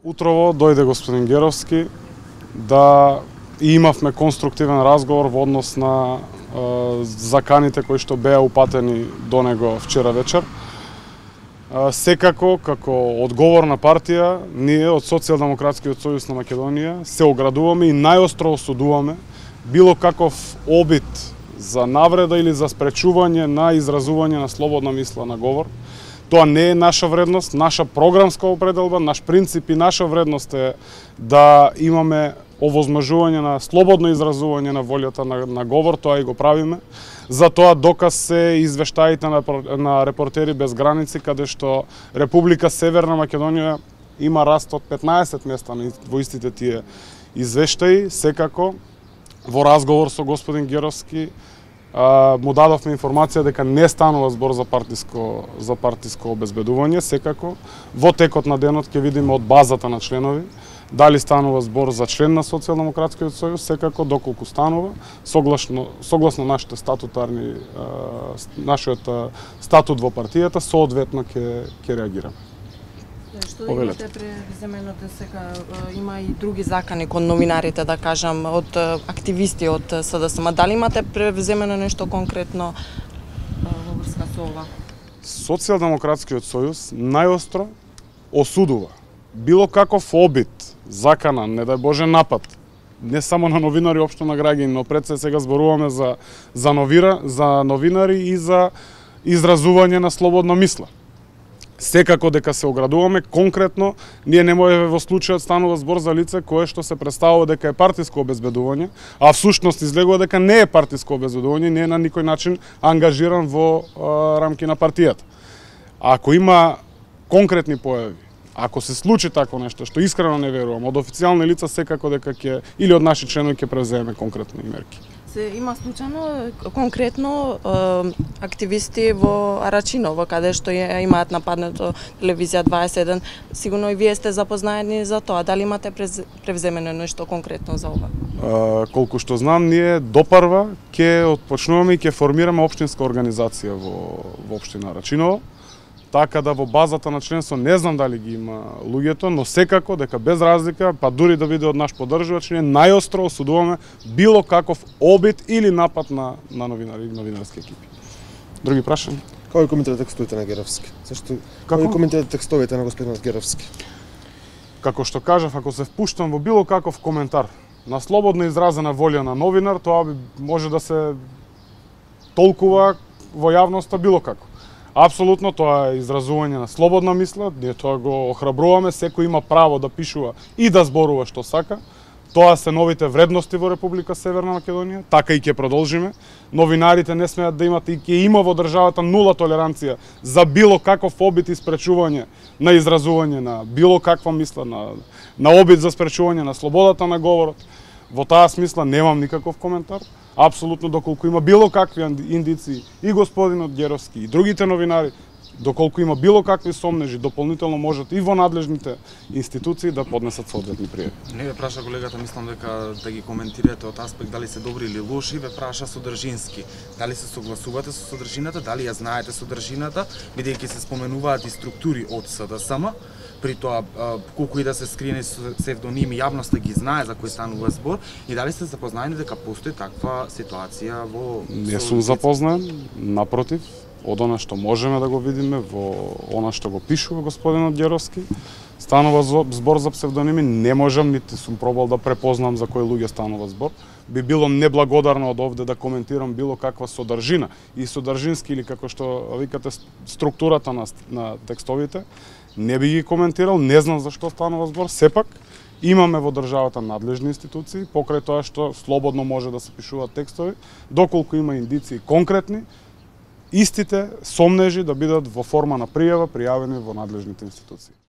Утрово дојде господин Геровски да имавме конструктивен разговор во однос на заканите кои што беа упатени до него вчера вечер. Секако, како одговорна партија, ние од Социјалдемократскиот сојуз на Македонија се оградуваме и најостро осудуваме било каков обид за навреда или за спречување на изразување на слободна мисла на говор. Тоа не е наша вредност, наша програмска определба, наш принцип и наша вредност е да имаме овозможување на слободно изразување на волјата на говор, тоа и го правиме. За тоа доказ се извештаите на Репортери без граници, каде што Република Северна Македонија има раст од 15 места во истите тие извештаи. Секако, во разговор со господин Геровски, му дадовме информација дека не станува збор за партиско обезбедување. Секако, во текот на денот ќе видиме од базата на членови дали станува збор за член на Социјалдемократскиот сојуз. Секако, доколку станува, согласно нашите нашиот статут во партијата, соодветно ќе реагираме. Што имате преземено дека има и други закани кон новинарите, да кажам, од активисти од СДСМ. Дали имате преземено нешто конкретно во врска со ова? Социјалдемократскиот сојуз најостро осудува било каков обид, закана, не дај Боже напад, не само на новинари, општо на граѓани, но пред се сега зборуваме за новинари и за изразување на слободна мисла. Секако дека се оградуваме, конкретно, ние не можеме во случајот станува збор за лице кое што се представува дека е партиско обезбедување, а всушност излегува дека не е партиско обезбедување, не е на никој начин ангажиран во рамки на партијата. Ако има конкретни појави, ако се случи тако нешто, што искрено не верувам, од официјални лица секако дека ќе, или од наши членови ќе преземеме конкретни мерки. Се има случајно конкретно активисти во Арачиново, каде што имаат нападнато телевизија 21. Сигурно и вие сте запознаени за тоа. Дали имате превземено нешто конкретно за ова? Колку што знам, ние допарва ќе отпочнуваме и ќе формираме општинска организација во општина Арачиново. Така да во базата на членство не знам дали ги има луѓето, но секако дека без разлика, па дури да биде од наш поддржувач, ние најостро осудуваме било каков обид или напад на новинари и новинарски екипи. Други прашања? Како ги коментирате текстовите на Геровски? Зашто како ги коментирате текстовите на господинот Геровски? Како што кажав, ако се впуштам во било каков коментар на слободно изразена волја на новинар, тоа може да се толкува во јавноста било како. Апсолутно, тоа е изразување на слободна мисла, ние тоа го охрабруваме, секој има право да пишува и да зборува што сака. Тоа се новите вредности во Република Северна Македонија, така и ќе продолжиме. Новинарите не смеат да имат и ќе има во државата нула толеранција за било каков обид и спречување на изразување на било каква мисла, на обид за спречување на слободата на говорот. Во таа смисла немам никаков коментар. Апсолутно, доколку има било какви индиции и господинот Геровски и другите новинари, доколку има било какви сомнежи, дополнително можат и во надлежните институции да поднесат соодветни пријави. Не ве праша колегата, мислам дека да ги коментирате од аспект дали се добри или лоши, ве праша содржински. Дали се согласувате со содржината, дали ја знаете содржината, бидејќи се споменуваат и структури од СДСМ, при тоа колку и да се скрине псевдоними, јавноста ги знае за кој станува збор, и дали сте запознаени дека постои таква ситуација во... Не сум запознаен, напротив, од она што можеме да го видиме, во она што го пишува господинот Геровски, станува збор за псевдоними, не можам, нити сум пробал да препознам за кои луѓе станува збор. Би било неблагодарно од овде да коментирам било каква содржина и содржински или како што викате структурата на текстовите, не би ги коментирал, не знам за што станува збор, сепак имаме во државата надлежни институции, покрај тоа што слободно може да се пишуваат текстови, доколку има индиции конкретни, истите сомнежи да бидат во форма на пријава пријавени во надлежните институции.